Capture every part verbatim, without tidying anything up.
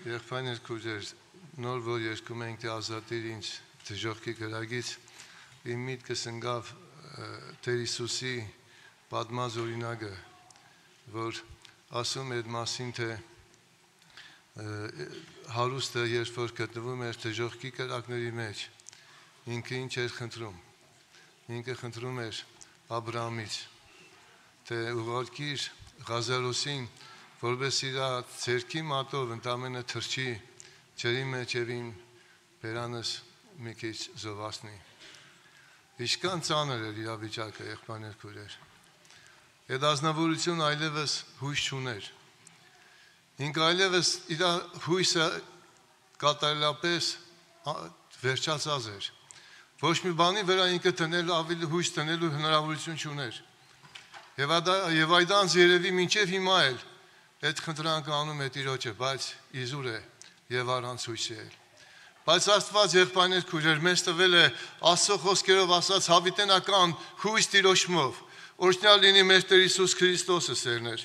Եղբայրներ քույրեր, նոր որ երգում ենք թե ազատիր ինձ դժոխքի գրագից, իմ միտքս ընկավ Տեր Հիսուսի պատմած օրինակը, որ ասում էր մասին, թե հարուստը երբ որ գտնվում էր դժոխքի կրակների մեջ, ինքը ինչ էր խնդրում, ինքը խնդրում էր Աբրահամից, թե ուղարկիր Ղազարոսին, որպես իր ձեռքի մատով ընդամենը թրջի ջրի մեջ եւ իմ բերանս մի քիչ զովացնի։ Ինչքան ծանր էր իրավիճակը, եղբայրներ քույրեր։ Այդ ազնվորությունը այլևս հույս չուներ։ Ինքը այլևս իր հույսը կատարելապես վերջացած էր։ Ոչ մի բանի վրա ինքը տնելու ավելի հույս տնելու հնարավորություն չուներ։ Եվ եւ այդ անց երևի մինչև հիմա էլ այդ խնդրանքը անում է Տիրոջը, բայց իզուր է եւ առանց հույսի է։ Բայց Աստված եղբայրներ քույրեր մեզ տվել է Աստծո խոսքերով ասած հավիտենական հույս Տիրոջմով։ Օրհնյալ լինի մեր Տեր Հիսուս Քրիստոսը սերներ։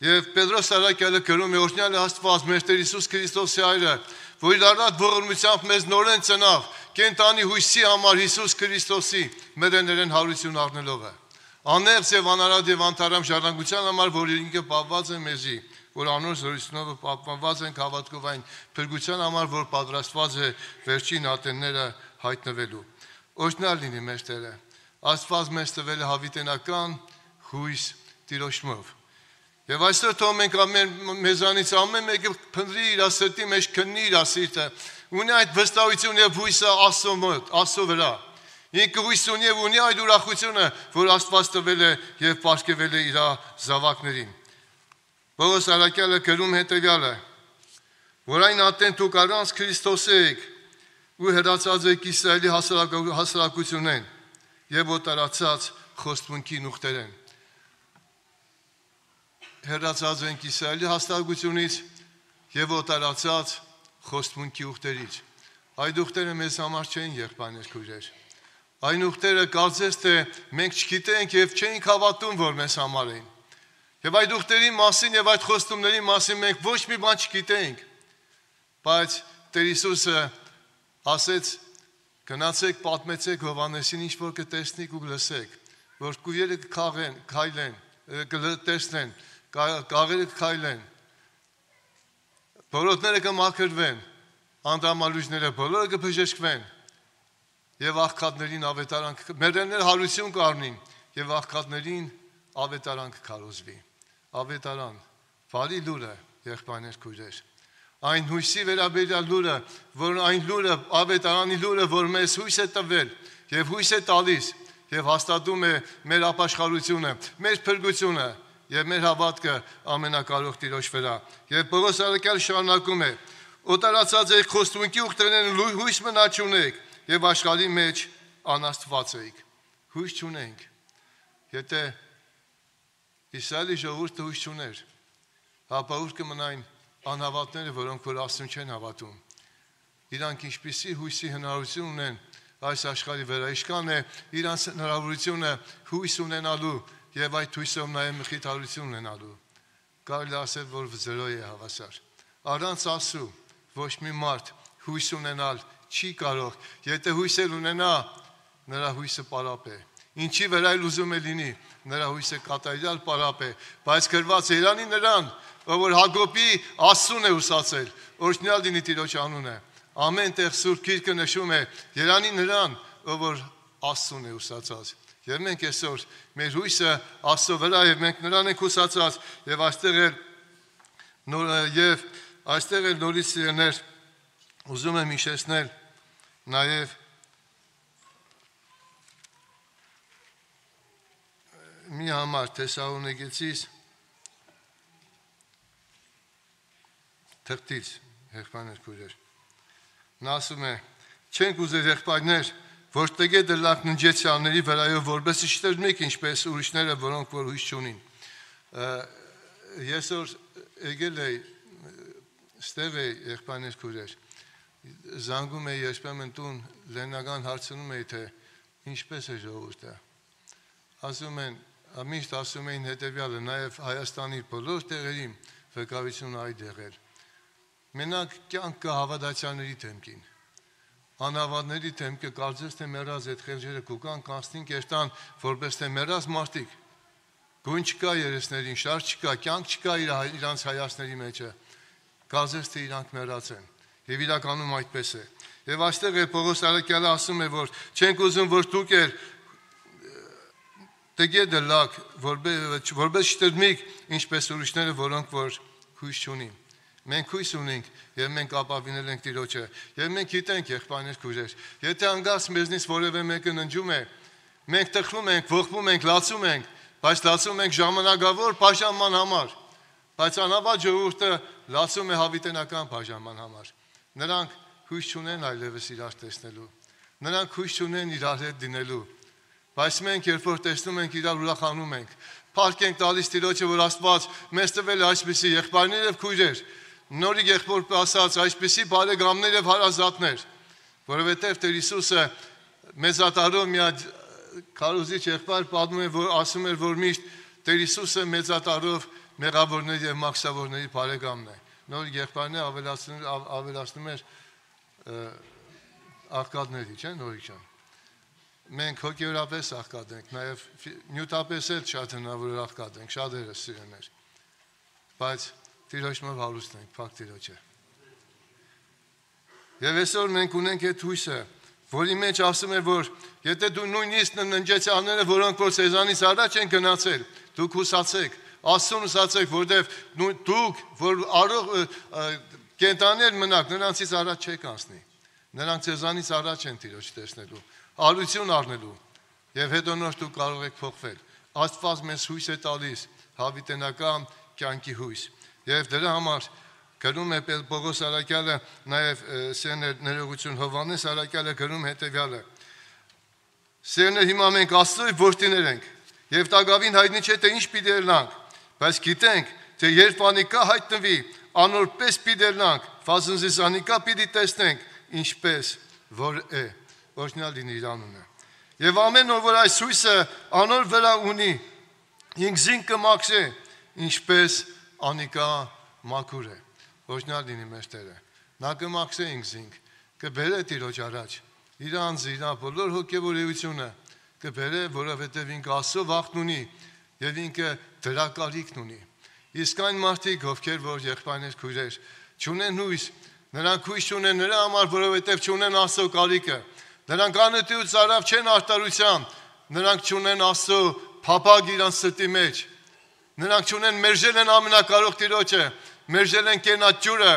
Եվ Պետրոս Արաքյալը գրում է օրհնյալ է Աստված մեր Տեր Հիսուս Քրիստոսի այրը, որ իր առատ ողորմությամբ մեզ նորեն ծնավ, կենտանի հույսի համար Հիսուս Քրիստոսի մերեներեն հարություն առնելով է։ Անեղծ եւ անարատ եւ անթարամ ժառանգության համար, որ ինքը պահված է մեզի, որ անոր զորությունով պահպանված ենք հավատքով այն փրկության համար, որ պատրաստված է վերջին ատենները հայտնվելու։ Օրհնյալ լինի մեր Տերը։ Աստված մեզ տվել է հավիտենական հույս Տիրոջմով։ Եվ այսօր թող մենք ամեն մեզանից ամեն մեկը փնտրի իր սրտի մեջ քննի իր սիրտը, ունի այդ վստահություն եւ հույսը Աստծո մոտ, Աստծո վրա։ Ինքը հույս ունի եւ ունի այդ ուրախությունը, որ Աստված տվել է եւ պարգևել է իր զավակներին։ Պողոս Արաքյալը գրում հետեւյալը, որ այն ատեն դուք առանց Քրիստոսի եք ու հրացած եք Իսրայելի հասարակությունեն եւ օտարացած խոստմունքի նուխտերեն։ Հրացած ենք Իսրայելի հասարակությունից եւ օտարացած խոստմունքի ուխտերից։ Այդ ուխտերը մեզ համար չեն եղբայրներ քույրեր։ Այն ուխտերը կարծես թե մենք չգիտենք եւ չենք հավատում, որ մեզ համար են։ Եվ այդ ուխտերի մասին եւ այդ խոստումների մասին մենք ոչ մի բան չգիտենք։ Բայց Տեր Հիսուսը ասեց. «Գնացեք, պատմեցեք Հովհաննեսին, ինչ որ կտեսնիք ու կլսեք, որ կույրերը կքաղեն, քայլեն, կտեսնեն, կաղերը կքայլեն, բոլորները կմաքրվեն, անդամալուջները բոլորը կբժշկվեն, եւ աղքատներին ավետարան մերներ հարություն կառնին եւ աղքատներին ավետարան կքարոզվի։ Ավետարան, բարի լուրը, եղբայրներ քույրեր։ Այն հույսի վերաբերյալ լուրը, որ այն լուրը, ավետարանի լուրը, որ մեզ հույս է տվել եւ հույս է տալիս եւ հաստատում է մեր ապաշխարությունը, մեր փրկությունը եւ մեր հավատքը ամենակարող Տիրոջ վրա։ Եվ Պողոս Արաքյալը շարունակում է. «Օտարացած եք խոստմունքի ուխտերեն հույս մնա չունեք եւ աշխարհի մեջ անաստված եք»։ Հույս չունենք։ Եթե Իսրայելի ժողովուրդը հույս չուներ, ապա ուր կմնային անհավատները, որոնք որ Աստծուն չեն հավատում։ Իրանք ինչպիսի հույսի հնարավորություն ունեն այս աշխարհի վրա, ինչքան է իրանց հնարավորությունը հույս ունենալու եւ այդ հույսով նաեւ մխիթարություն ունենալու։ Կարելի ասել, որ զրո է հավասար։ Առանց Աստծու ոչ մի մարդ հույս ունենալ չի կարող, եթե հույսել ունենա, նրա հույսը պարապ է։ Ինչի վրա էլ ուզում է լինի, նրա հույսը կատարյալ պարապ է, բայց գրված է Երանի նրան, ով որ Հակոբի Աստծուն է ուսացել, օրհնյալ լինի Տիրոջ անունը։ Ամեն տեղ Սուրբ Գիրքը նշում է Երանի նրան, ով որ Աստծուն է ուսացած։ Եվ մենք այսօր մեր հույսը Աստծո վրա եւ մենք նրան ենք ուսացած եւ այստեղ էլ նոր եւ այստեղ էլ նորից սիրներ ուզում եմ հիշեցնել նաև մի համար Թեսաղոնիկեցիս թղթից, եղբայրներ քույրեր։ Նա ասում է. «Չենք ուզել եղբայրներ, որ տգե դրլակ ննջեցյալների վրայով որպես շտերմիկ ինչպես ուրիշները, որոնք որ հույս չունին»։ Ես որ եկել էի ստեղ էի, եղբայրներ քույրեր, զանգում էի երբեմն տուն, լենական հարցնում էի, թե ինչպես է ժողովուրդը։ Ասում են, միշտ ասում էին հետևյալը, նաև Հայաստանի բոլոր տեղերին վկայությունը այդ եղել, Մենակ կյանք կա հավատացյալների թեմքին։ Անհավատների թեմքը կարծես թե մեռած այդ խեղճերը կուկան կանցնին կերտան որպես թե մեռած մարդիկ։ Գույն չկա երեսներին, շարժ չկա, կյանք չկա իրանց հայացքների մեջը։ Կարծես թե իրանք մեռած են։ Եվ իրականում այդպես է։ Եվ այստեղ է Պողոս առաքյալը ասում է, որ չենք ուզում, որ դուք էլ տգետ լակ, որպես չտրմիկ, ինչպես ուրիշները, որոնք որ հույս չունին։ Մենք հույս ունենք եւ մենք ապավինել ենք Տիրոջը եւ մենք գիտենք եղբայրներ քույրեր, եթե անգամ մեզնից որևէ մեկը ննջում է, մենք տխրում ենք, ողբում ենք, լացում ենք, բայց լացում ենք ժամանակավոր բաժանման համար, բայց անավարտ ժողովուրդը լացում է հավիտենական բաժանման համար։ Նրանք հույս չունեն այլևս իրար տեսնելու, նրանք հույս չունեն իրար հետ դինելու, բայց մենք երբ որ տեսնում ենք իրար ուրախանում ենք, փառք ենք տալիս Տիրոջը, որ Աստված մեզ տվել է այսպիսի եղբայրներ եւ քույրեր, նորի եղբոր ասած այսպիսի բարեկամներ եւ հարազատներ, որովհետեւ Տեր Հիսուսը մեծատարով մի հատ քարոզիչ եղբայր պատմում է, որ ասում էր, որ միշտ Տեր Հիսուսը մեծատարով մեղավորների եւ մաքսավորների բարեկամն է։ Նոր եղբայրն ավելացնում ավելացնում էր աղքատների, չէ՞, նորիկ ջան։ Մենք հոգեորապես աղքատ ենք, նաեւ նյութապես էլ շատ հնարավոր աղքատ ենք, շատերս սիրեներ։ Բայց Տիրոջով հարուստ ենք, փակ Տիրոջը։ Եվ այսօր մենք ունենք այդ հույսը, որի մեջ ասում է, որ եթե դու նույնիսկ ննջեցյանները, որոնք որ սեզանից առաջ են գնացել, դուք հուսացեք, Աստծուն հուսացեք, որտեվ դուք, որ առող կենտաներ մնաք, նրանցից առաջ չեք անցնի։ Նրանք սեզանից առաջ են Տիրոջ տեսնելու, արություն առնելու, եւ հետո նոր դուք կարող եք փոխվել։ Աստված մեզ հույս է տալիս, հավիտենական կյանքի հույս։ Եվ դրա համար գրում է Պողոս առաքյալը, նաև սերներ ներողություն Հովհաննես առաքյալը գրում հետևյալը. Սերներ, հիմա մենք Աստծո որդիներ ենք, եւ տագավին հայտնի չէ թե ինչ պիտի ելնանք, բայց գիտենք, թե երբ անիկա հայտնվի, անորպես պիտի ելնանք, ֆազնզիս անիկա պիտի տեսնենք, ինչպես որ է, օրհնյալ լինի իր անունը։ Եվ ամեն ով որ այս հույսը անոր վրա ունի, ինքզին կմաքսե, ինչպես անիկա մաքուր է, օրհնյալ լինի մեր Տերը։ Նա կմաքսե ինքզինք, կբերե Տիրոջ առաջ, իր անձը, իր բոլոր հոգևոր էությունը կբերե, որովհետև ինքը Աստծո վախն ունի եւ ինքը դրա կարիքն ունի։ Իսկ այն մարդիկ, ովքեր որ եղբայրներ քույրեր, չունեն հույս, նրանք հույս չունեն նրա համար, որովհետև չունեն Աստծո կարիքը։ Նրանք անըտիուց արավ չեն արտարության, նրանք չունեն Աստծո փափագ իրանց սրտի մեջ։ Նրանք չունեն մերժել են ամենակարող Տիրոջը, մերժել են կենաց ջուրը,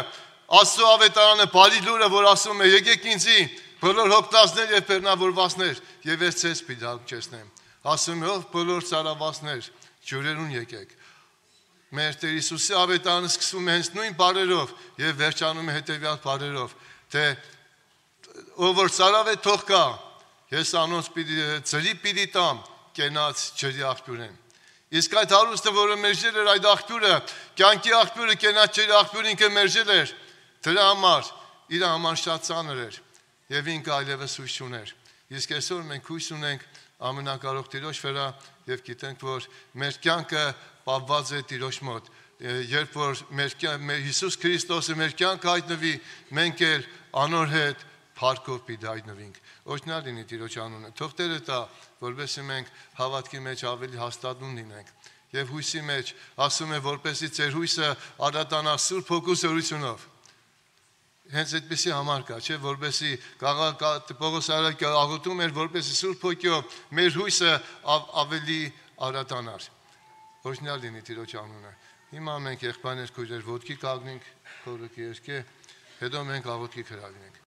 Աստծո ավետարանը բարի լուրը, որ ասում է եկեք ինձի, բոլոր հոգնածներ եւ բեռնավորվածներ, եւ ես ցես պիտի հագճեցնեմ։ Ասում է ով բոլոր ծարավացներ, ջուրերուն եկեք։ Մեր Տեր Հիսուսի ավետարանը սկսվում է հենց նույն բառերով եւ վերջանում է հետեւյալ բառերով, թե ով որ ծարավ է թող կա, ես անոնց պիտի ծրի պիտի տամ, կենաց ջրի աղբյուրեն։ Իսկ այդ հարուստը, որը մերժել էր այդ աղբյուրը, կյանքի աղբյուրը, կենաց ջրի աղբյուրը ինքը մերժել էր, դրա համար իր համար շատ ծանր էր եւ ինքը այլևս հույս չուներ։ Իսկ այսօր մենք հույս ունենք ամենակարող Տիրոջ վրա եւ գիտենք, որ մեր կյանքը պահված է Տիրոջ մոտ։ Երբ որ մեր մեր Հիսուս Քրիստոսը մեր կյանքը հայտնվի, մենք էլ անոր հետ փառքով պիտի հայտնվենք։ Օրհնյալ լինի Տիրոջ անունը։ Թող Տերը տա, որովհետեւ մենք հավատքի մեջ ավելի հաստատուն լինենք։ Եվ հույսի մեջ ասում է, որպեսզի ձեր հույսը արատանա Սուրբ Հոգու զորությունով։ Հենց այդպեսի համար կա, չէ, որպեսզի Պողոս առաքյալը աղոթում էր, որպեսզի Սուրբ Հոգով մեր հույսը ավելի արատանար։ Օրհնյալ լինի Տիրոջ անունը։ Հիմա մենք եղբայրներ քույրեր ոտքի կանգնենք, խորը կերկե, հետո մենք աղոթքի կհրավիրենք։